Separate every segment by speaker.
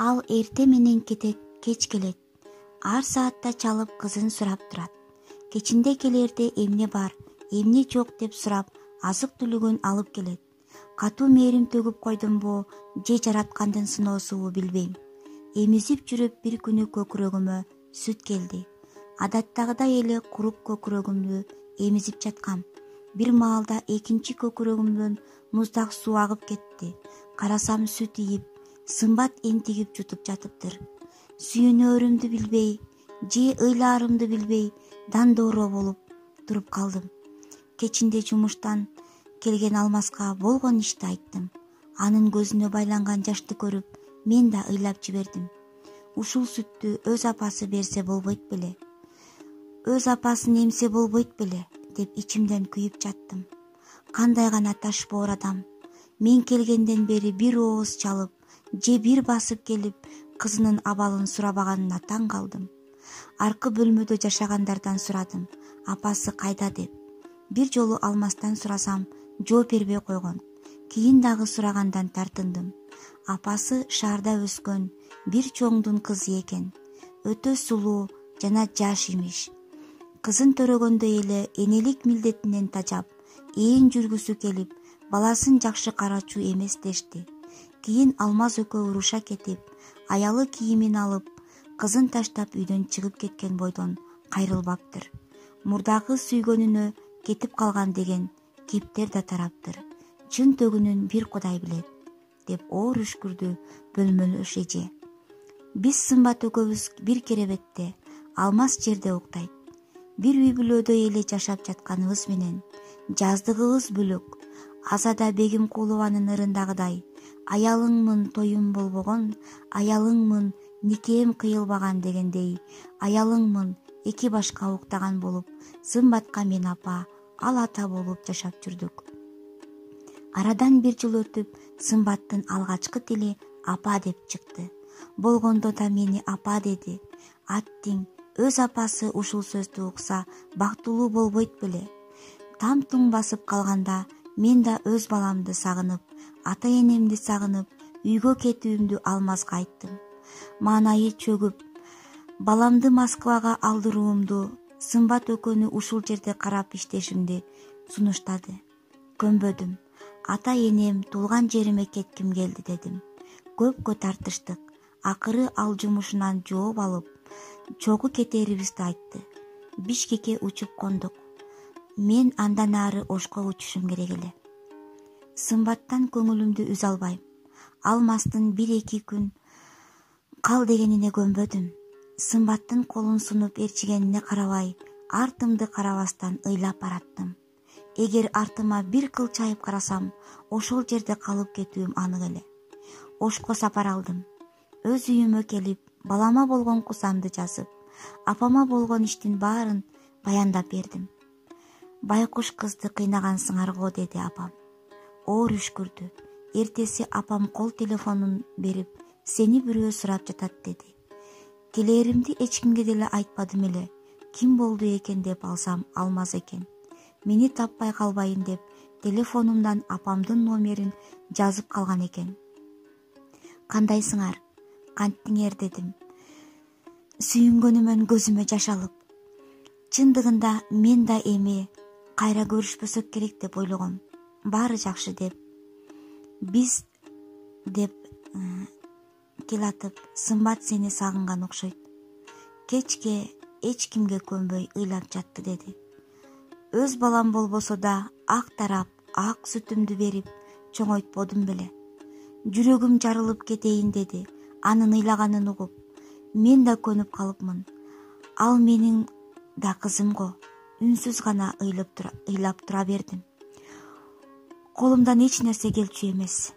Speaker 1: Ал эрте менен кетет, кеч келет. Ар саатта чалып кызын сурап турат. Кечинде келерде эмне бар, эмне жок деп сурап, азык-түлүгүн алып келет. Катуу мээрим төгүп койдумбу, же жараткандын сыноосубу билбейм. Эмизип жүрүп бир күнү көкүрөгүмө сүт келди. Адаттагыдай эле курук көкүрөгүмдү эмизип жаткам. Бир маалда экинчи көкүрөгүмдөн муздак суу агып кетти. Карасам сүт ийип, сымбат энтигип жутуп жатыптыр. Сүйүнөөрүмдү билбей, же ыйлаарымды билбей, дандоороо болуп туруп калдым. Кечинде жумуштан келген Алмаска болгон ишти айттым. Анын көзүнө байланган жашты көрүп, мен да ыйлап жибердим. Ушул сүттү өз апасы берсе болбойт беле? Өз апасын эмсе болбойт беле? Деп ичимден күйүп жаттым. Кандай гана ташбоор адам. Мен келгенден бери бир ооз чалып, же бир басып келип, кызынын абалын сурабаганына таң калдым. Аркы бөлмөдө жашагандардан сурадым, апасы кайда деп. Бир жолу Алмастан сурасам, жооп бербей койгон. Кийин дагы сурагандан тартындым. Апасы шаарда өскөн бир чоңдун кызы экен. Өтө сулуу жана жаш имиш. Кызын төрөгөндөй эле энелик милдетинен тажап, ээн жүргүсү келип, баласын жакшы карачу эмес дешти. Кийин Алмаз экөө уруша кетип, аялы кийимин алып, кызын таштап үйдөн чыгып кеткен бойдон кайрылбаптыр. Мурдагы сүйгөнүнө кетип калган деген кептер да тараптыр. Чын төгүнүн бир Кудай билет, деп оор үшкүрдү бөлмөлөш эже. Биз Сымбат экөөбүз бир керебетте, Алмаз жерде уктайт. Бир үй бүлөдөй эле жашап жатканыбыз менен жаздыгыбыз бөлөк. Азада Бегимкулованын ырындагыдай: аялыңмын тоюм болбогон, аялыңмын никем кыйылбаган дегендей, аялыңмын эки башка уктаган болуп, Сымбатка мен апа, ал ата болуп жашап жүрдүк. Арадан бир жыл өтүп, Сымбаттын алгачкы тили апа деп чыкты. Болгондо да мени апа деди. Аттиң өз апасы ушул сөздү укса бактылуу болбойт беле? Там туң басып калганда мен да өз баламды сагынып, ата-энемди сагынып, үйгө кетүүмдү Алмазга айттым. Маанайы чөгүп, баламды Москвага алдыруумду, Сымбат экөөнү ушул жерде карап иштешимди сунуштады. Көнбөдүм. Ата-энем туулган жериме кетким келди дедим. Көпкө тартыштык. Акыры ал жумушунан жооп алып, чогуу кетерибизди айтты. Бишкекке учуп кондук. Мен андан ары Ошко учушум керек эле. Сымбаттан көңүлүмдү үзө албайм. Алмастын 1-2 күн кал дегенине көнбөдүм. Сымбаттын колун сунуп ээрчигенине карабай, артымды карабастан ыйлап бараттым. Эгер артыма бир кылчайып карасам, ошол жерде калып кетүүм анык эле. Ошко сапар алдым. Өз үйүмө келип, балама болгон кусамды жазып, апама болгон иштин баарын баяндап бердим. Байкуш кызды кыйнагансыңар го, деди апам. Оор үшкүрдү. Эртеси апам кол телефонун берип, сени бирөө сурап жатат деди. Келээримди эч кимге деле айтпадым эле. Ким болду экен деп алсам, Алмаз экен. Мени таппай калбайын деп телефонумдан апамдын номерин жазып калган экен. Кандайсыңар? Кантиңер, дедим. Сүйүнгөнүмөн көзүмө жаш алып. Чындыгында мен да эми кайра көрүшпөсөк керек деп ойлогом. Баары жакшы деп. Биз деп келатып, Сымбат сени сагынган окшойт. Кечке эч кимге көнбөй ыйлап жатты, деди. Өз балам болбосо да ак тарап, ак сүтүмдү берип чоңойтподум беле. Жүрөгүм жарылып кетейин, деди. Анын ыйлаганын угуп, мен да көнүп калыпмын. Ал менин да кызым го. Үнсүз гана ыйлап тура бердим. Колумдан эч нерсе келчү эмес.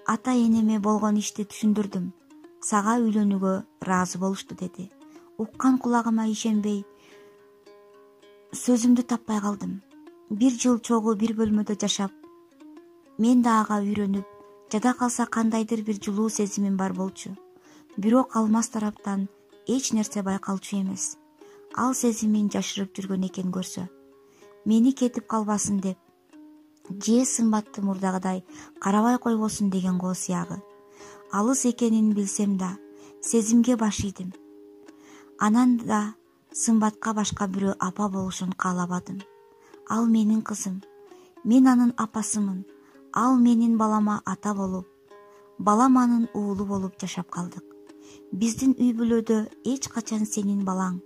Speaker 1: Ата-энеме болгон ишти түшүндүрдүм. Сага үйлөнүүгө ыраазы болушту, деди. Уккан кулагыма ишенбей, сөзүмдү таппай калдым. Бир жыл чогуу бир бөлмөдө жашап, мен да ага үйрөнүп, жада калса кандайдыр бир жылуу сезимим бар болчу. Бирок Алмаз тараптан эч нерсе байкалчу эмес. Ал сезимин жашырып жүргөн экен көрсө. Мени кетип калбасын деп, же Сымбатты мурдагыдай карабай койбосун деген го сыягы. Алыс экенин билсем да, сезимге баш ийдим. Анан да Сымбатка башка бирөө апа болушун каалабадым. Ал менин кызым. Мен анын апасымын. Ал менин балама ата болуп, балам анын уулу болуп жашап калдык. Биздин үй бүлөдө эч качан сенин балаң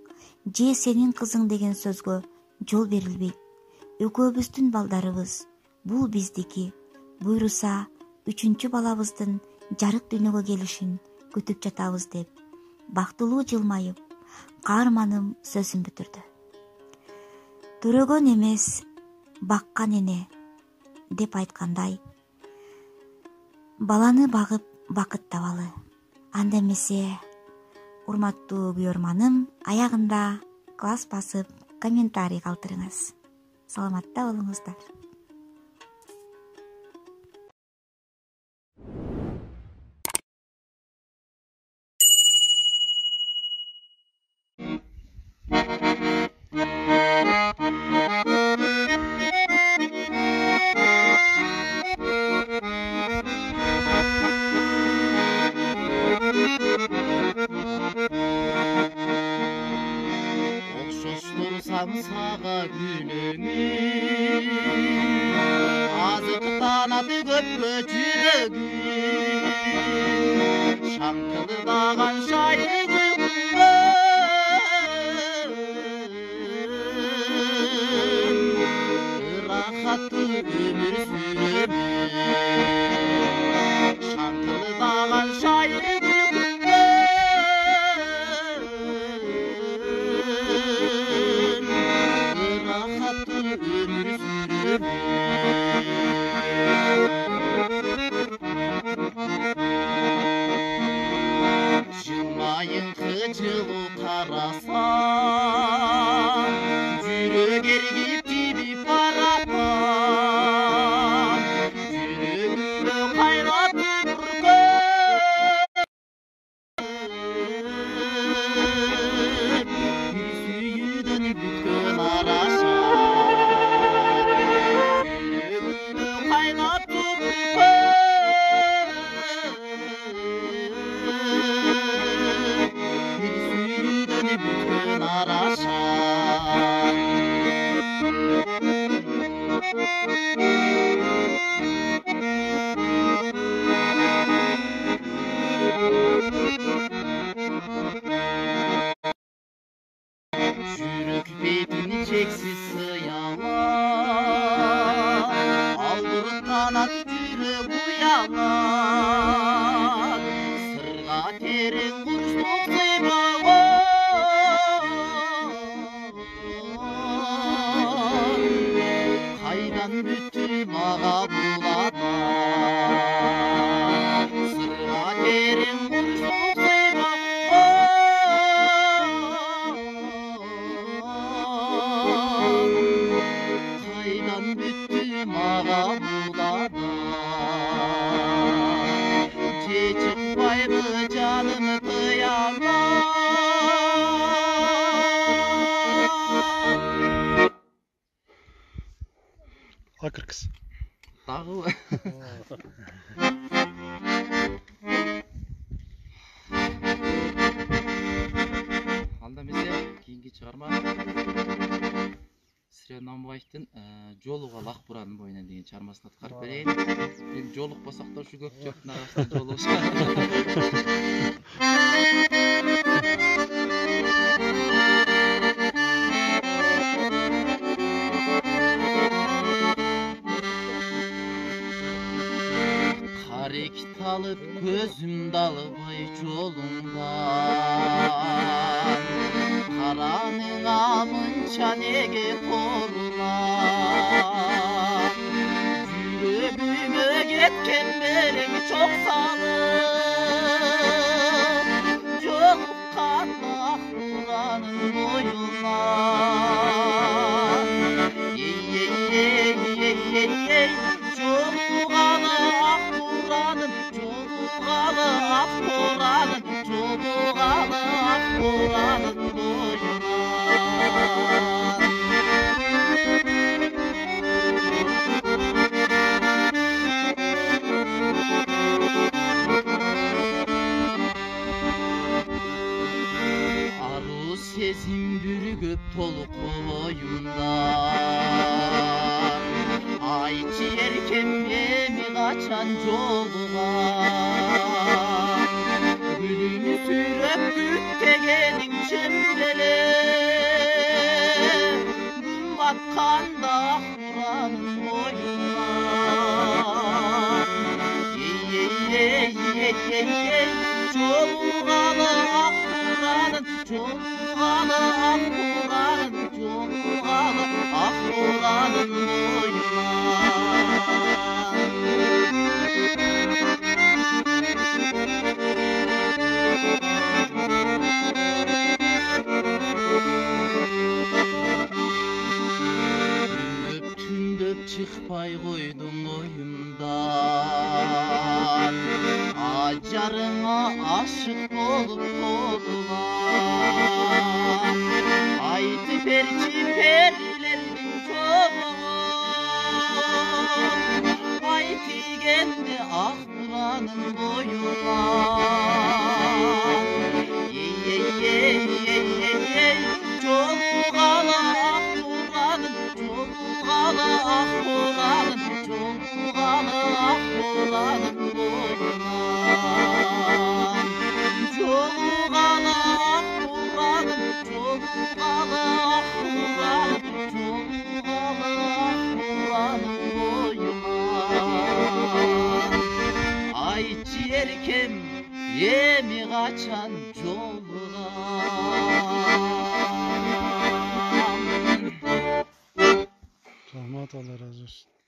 Speaker 1: же сенин кызың деген сөзгө жол берилбейт. Экөөбүздүн балдарыбыз. Бул биздики. Буйруса 3-чү балабыздын жарык дүйнөгө келишин күтүп жатабыз деп бактылуу жылмайып каарманым сөзүн бүтүрдү. Төрөгөн эмес, баккан эне деп айткандай, баланы багып бакыт табалы. Анда эмесе, урматтуу күйөрманым, аягында класс басып комментарий калтырыңыз. Саламатта болуңуздар.
Speaker 2: Сага күлөңү азыктанады көпкө жүрөгү шаңкылдаган шайыр рахаттуу өмүр сүрөмүн шаңкылдаган шайыр жылмайыңкы жылуу карасам жүрөк эргип тийип баратам жүрөгүмдө кайнап бир сүйүүдөн бүткөн араша жүрөгүмдө кайнап бүткөн араша жүрөк бетин чексиз сыялап албырттанат жүрөк уялат сырга терең курчтук кайдан бүттү мага бул ата сырга терең курчтук кайдан бүттү мага бул ата же чыкпайбы жаным кыямат
Speaker 3: Акыркыз.
Speaker 2: Дагы анда эмесе кийинки чыгарма Сирия Намбаевдин жолуга лак буранын боюнан деген чыгармасын аткарып берейин. Эми жолукпасак да ушу көп жактын арасында жолугушат. Карек талып көзүмдү албай жолуңдан караныңа мынча неге торулап жүрөгүмө кеткен белең чок салып жолуккан ак буранын боюнан жолугалы ак буранын жолугалы ак буранын жолугалы ак буранын боюнан сезим бүргөп толку боюмда. Айтчы эркем эми качан жолугам, гүлүмү сүйрөп күттөгениң чембеле, күн батканда ак буранын боюна. Жолугалы ак буранын, жолугалы ак буранын, жолугалы ак буранын боюна. Түндөп чыкпай койдум оюмдан, ажарыңа ашык болуп толган. Айтып берчи перилердин чобогун, ай тийгенде ак буранын боюна. Жолугалы ак буранын, жолугалы ак буранын, жолугалы ак буранын боюна. Жолугалы ак буранын, жолугалы ак буранын, жолугалы ак буранын боюна. Айтчы эркем эми качан жолугам.
Speaker 3: Рахмат, Алла разы болсун.